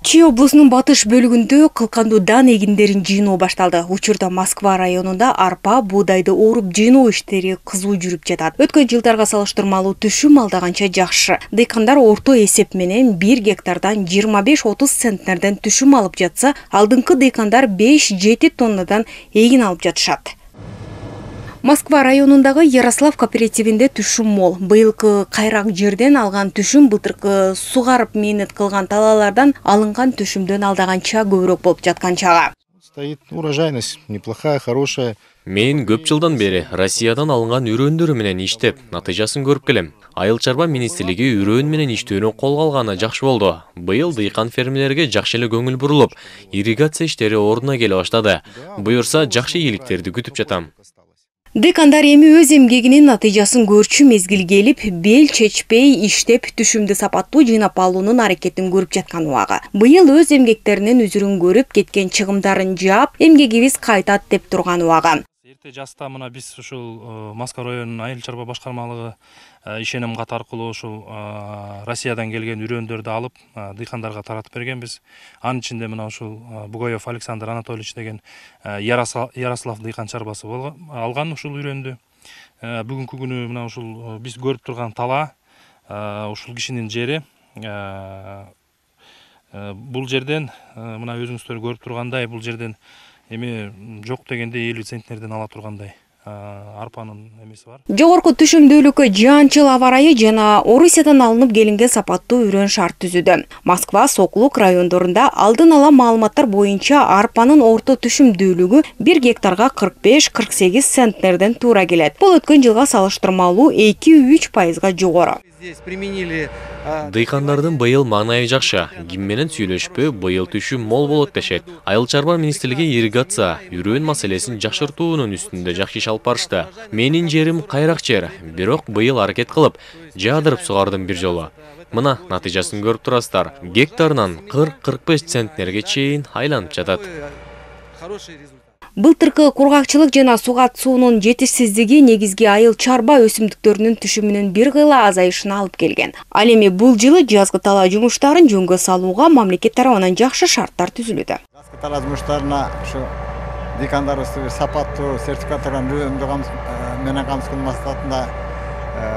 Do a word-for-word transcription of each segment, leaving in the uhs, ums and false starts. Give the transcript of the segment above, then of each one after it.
Чүй облусунун батыш бөлүгүндө кылкандуу дан эгиндерин жыйноо башталды. Учурда Москва районунда арпа, буудайды ооруп жыйноо иштери кызуу жүрүп жатат. Өткөн жылдарга салыштырмалуу түшүм алдаганча жакшы. Дыйкандар орто эсеп менен бир гектардан жыйырма беш отуз центнерден түшүм алып жатса, алдыңкы дыйкандар беш жети тоннадан эгин алып жатышат. Москва районундагы Ярослав кооперативинде түшүм мол. Быйылкы кайрак жерден алган түшүм былтыркы сугарып мээнет кылган талаалардан алынган түшүмдөн алдаганча көбүрөөк болуп жаткан чагы. Стоит урожайность неплохая, хорошая. Мен көп жылдан бери Россиядан алынган үрөндөр менен иштеп, натыйжасын көрүп келем. Айыл чарба министрлиги үрөн менен иштөөнү колго алганы жакшы болду. Быйыл дыйкан фермелерге жакшы эле көңүл бурулуп, ирригация иштери ордуна келе баштады. Буюрса жакшы ийгиликтерди күтүп жатам. Дыйкандар эми өз эмгегинин натыйжасын көрчү мезгил келип, бел чечпей иштеп түшүмдү сапаттуу жыйнап алуунун аракетин көрүп жаткан убагы. Быйыл өз эмгектеринин үзүрүн көрүп, кеткен чыгымдарын жаап, эмгегибиз кайтат деп турган убагы. Эрте жаста мына биз ушул Москва районунун айыл чарба башкармалыгы ишеним кат аркылуу ушул Россиядан келген үрөндөрдү алып дыйкандарга таратып бергенбиз. Анын ичинде мына ушул Бугаев Александр Анатольевич деген Ярослав дыйкан чарбасы алган ушул үрөндү. Бүгүнкү күнү мына ушул биз көрүп турган тала ушул кишинин жери. Бул жерден мына өзүңүздөр көрүп тургандай, бул жерден эми жок дегенде элүү центнерден ала тургандай арпанын эмеси бар. Жогорку түшүмдүүлүккө жаанчыл аба ырайы жана Орусиядан алынып келинген сапаттуу үрөн шарт түзүүдө. Москва, Сокулук райондорунда алдын ала маалыматтар боюнча арпанын орто түшүмдүүлүгү бир гектарга кырк беш кырк сегиз центнерден туура келет. Бул өткөн жылга салыштырмалуу эки үч пайызга жогору. Дыйкандардын быйыл маанайы жакшы. Ким менен сүйлөшпө, быйыл түшүм мол болот дешет. Айыл чарба министрлиги ирригация, үрөн маселесин жакшыртуунун үстүндө жакшы иш алып барышты. Менин жерим кайрак жер, бирок быйыл аракет кылып, жаадырып сугардым бир жолу. Мына натыйжасын көрүп турасыздар. Гектарынан кырк кырк беш центнерге чейин айланып жатат. Былтыркы кургакчылык жана сугат суунун жетишсиздиги негизги айыл чарба өсүмдүктөрүнүн түшүмүнүн бир кыйла азайышына алып келген. Ал эми бул жылы жазгы талаа жумуштарын жөнгө салууга мамлекет тарабынан жакшы шарттар түзүлүүдө. Жазгы талаа жумуштарына ушу дыйкандарыбызды сапаттуу сертификатталган үрөндү менен камсыздоо максатында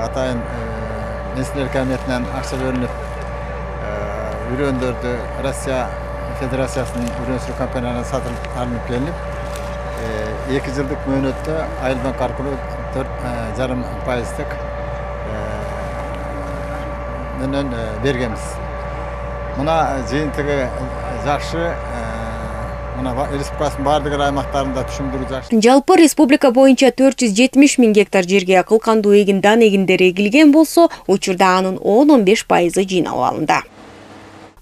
атайын Министрлер кабинетинен акча бөлүнүп, үрөндөрдү Россия Федерациясынын үрөн өсүрүү компанияларына сатып алынып келип, эки жылдык мөөнөттө Айыл банк аркылуу төрт жарым пайыздык менен бергенбиз. Мына жыйынтыгы жакшы. Мына республиканын бардык аймактарында түшүмдүрүү жакшы. Жалпы республика боюнча төрт жүз жетимиш миң гектар жерге кылкандуу эгин дан эгиндери эгилген болсо, учурда анын он он беш пайызы жыйналып алынды.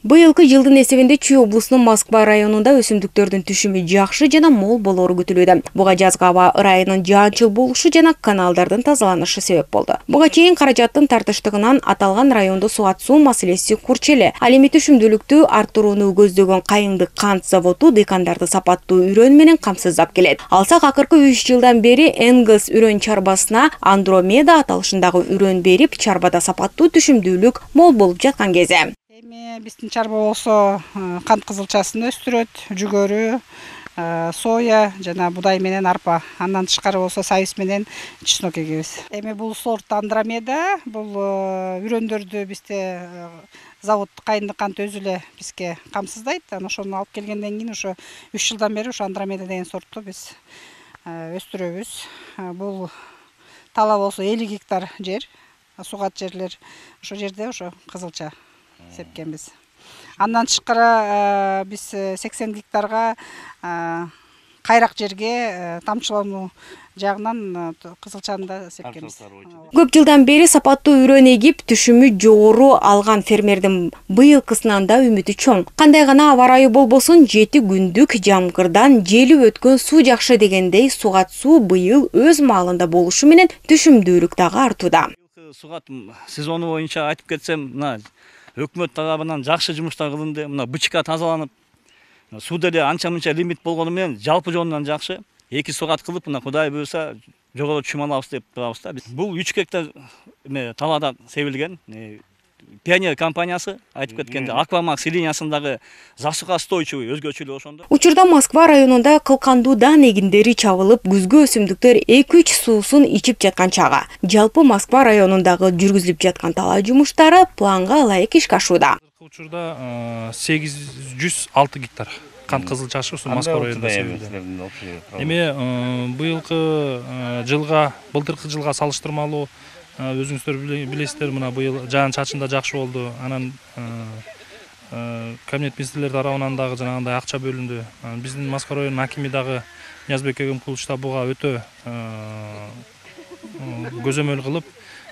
Быйылкы жылдын эсебинде Чүй облусунун Москва районунда өсүмдүктөрдүн түшүмү жакшы жана мол болору күтүлүүдө. Буга жазгы аба ырайынын жаанчыл болушу жана каналдардын тазаланышы себеп болду. Буга чейин каражаттын тартыштыгынан аталган райондо сугат суу маселеси курч эле. Ал эми түшүмдүүлүктү арттырууну көздөгөн Кайыңдык кант заводу дыйкандарды сапаттуу үрөн менен камсыздап келет. Алсак акыркы үч жылдан бери Энгельс үрөн чарбасына Андромеда аталышындагы үрөн берип, чарбада сапаттуу түшүмдүүлүк мол болуп жаткан кезде. Эми биздин чарба болсо кант кызылчасын өстүрөт, жүгөрү, соя жана будай менен арпа. Андан тышкары болсо сабиз менен чеснок эгебиз. Эми бул сорт Андромеда, бул үрөндөрдү бизде завод Кайыңдык кант өзү эле бизге камсыздайт. Анан ошону алып келгенден кийин ошо үч жылдан бери ошо Андромеда деген сортту биз өстүрөбүз. Бул тала болсо элүү гектар жер, сугат жерлер. Ошо жерде ошо кызылча сепкенбиз. Андан тышкары биз сексен гектарга кайрак жерге тамчылануу жагынан кызылчаны да сепкенбиз. Көп жылдан бери сапаттуу үрөн эгип, түшүмү жогору алган фермердин быйылкысынан да үмүтү чоң. Кандай гана аба ырайы болбосун, жети күндүк жамгырдан желип өткөн суу жакшы дегендей, сугат суу быйыл өз маалында болушу менен түшүмдүүлүк дагы артууда. Сугат сезону боюнча айтып кетсем, мына өкмөт тарабынан жакшы жумуштар кылынды. Мына бычка тазаланып, сууда эле анча-мынча лимит болгону менен жалпы жонунан жакшы. Эки сугат кылып, мына Кудай буюрса жогору түшүм алабыз деп турабыз да. Бул үч гектар талаада себилген. Пионер компаниясы айтып кеткенде Аквамакс линиясындагы засухостойчивый өзгөчөлүгү ошондо. Учурда Москва районунда кылкандуу дан эгиндери чабылып, күзгү өсүмдүктөр эки үч суусун ичип жаткан чагы. Жалпы Москва районундагы жүргүзүлүп жаткан талаа жумуштары планга ылайык ишке ашууда. Учурда сегиз жүз алты гектар кант кызыл чашы ушу Москва районунда себилди. Эми быйылкы жылга, былтыркы жылга салыштырмалуу өзүңүздөр билесиздер, мына быйыл жаан чачында жакшы болду. Анан кабинет министрлер тарабынан дагы жанагындай акча бөлүндү. Биздин Москва районунун акими дагы Ниязбек Эгемкулович да буга өтө көзөмөл кылып,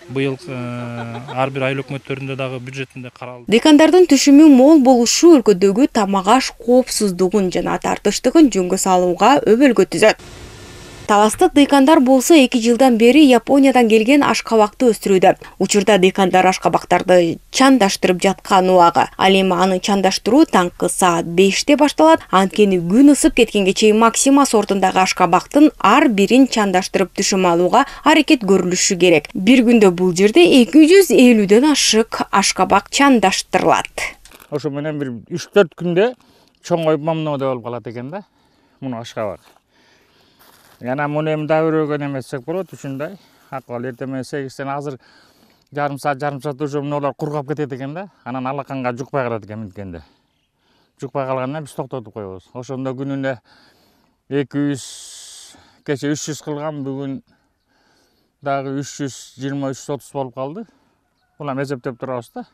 быйыл ар бир айыл өкмөттөрүндө дагы бюджетинде каралды. Дыйкандардын түшүмү мол болушу өлкөдөгү тамак аш коопсуздугун жана тартыштыгын жөнгө салууга өбөлгө түзөт. Таластык дыйкандар болсо эки жылдан бери Япониядан келген ашкабакты өстүрүүдө. Учурда дыйкандар ашкабактарды чандаштырып жаткан убагы. Ал эми аны чандаштыруу таңкы саат беште башталат. Анткени күн ысып кеткенге чейин Максима сортундагы ашкабактын ар бирин чандаштырып түшүм алууга аракет көрүлүшү керек. Бир күндө бул жерде эки жүз элүүдөн ашык ашкабак чандаштырылат. Ошо менен бир үч төрт күндө чоңоюп мамноодай болуп калат экен да. Муну ашкабак. Яна муну эми да өрөгөн эмесек болот, ушундай. Акыбал эртең менен сегизден азыр жарым саат, жарым саат уже мыналар кургап кетет экен да. Анан алаканга жукпай калат экен минткенде. Жукпай калгандан биз токтотуп коебуз. Ошондо күнүнө эки жүз, кече үч жүз кылган, бүгүн дагы үч жүз жыйырма үч жүз отуз болуп калды. Булам эсептеп турабыз да.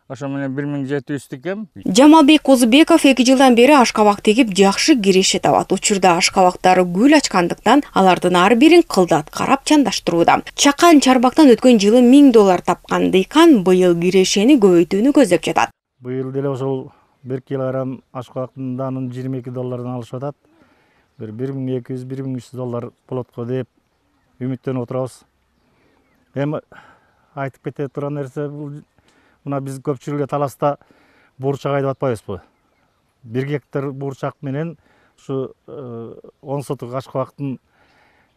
Ошо менен бир миң жети жүз тикем. Жамалбек Козубеков эки жылдан бери ашкабак тегип жакшы киреше табат. Учурда ашкабактары гүл ачкандыктан алардын ар бирин кылдат карап чандаштырууда. Чакан чарбактан өткөн жылы миң доллар тапкан дыйкан быйыл кирешени көбөйтүүнү көздөп жатат. Быйыл деле ошол бир килограмм ашкабактын данын жыйырма эки доллардан алышып атат. Бир бир миң эки жүз, бир миң үч жүз доллар болот го деп үмүттөнүп отурабыз. Эми айтып кете турган нерсе бул мына биз көпчүлүгү таласта буурчак айдап атпайбызбы? бир гектар буурчак менен ушу он сотук ашкабактын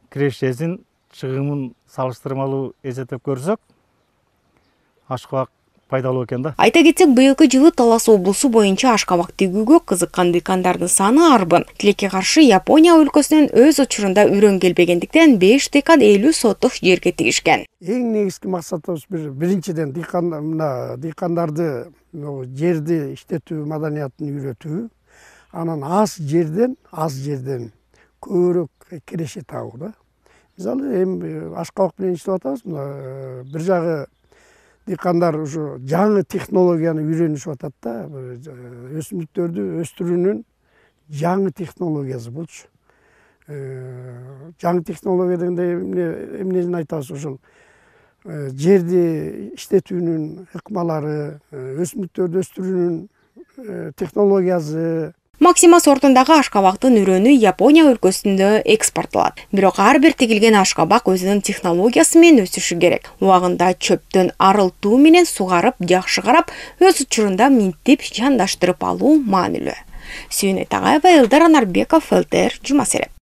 кирешесин, чыгымын салыштырмалуу эсептеп көрсөк, ашкабак пайдалуу экен да. Айта кетсек, быйылкы жылы Талас облусу боюнча ашкабак тигүүгө кызыккан дыйкандардын саны арбын. Тилекке каршы Япония өлкөсүнөн өз учурунда үрөн келбегендиктен беш дыйкан элүү сотук жерге тигишкен. Эң негизги максатыбыз бир биринчиден дыйкан мына дыйкандарды жерди иштетүү маданиятын үйрөтүү, анан аз жерден аз жерден көбүрөөк киреше табуу да. Мисалы эми ашкабак менен иштеп атабыз, мына бир жагы дыйкандар ушу жаңы технологияны үйрөнүшүп атат да. Өсүмдүктөрдү өстүрүүнүн жаңы технологиясы болчу. Жаңы технология дегенде эмнени айтабыз, ошол жерди иштетүүнүн ыкмалары, өсүмдүктөрдү өстүрүүнүн технологиясы. Максима сортундагы ашкабактын үрөнү Япония өлкөсүндө экспорттолот. Бирок ар бир тигилген ашкабак өзүнүн технологиясы менен өсүшү керек. Убагында чөптөн арылтуу менен сугарып, жакшы карап, өз учурунда минтип чандаштырып алуу маанилүү. Сүйүнөй Тагаева, Элдар Анарбеков, эл тэ эр, Жума Сереп.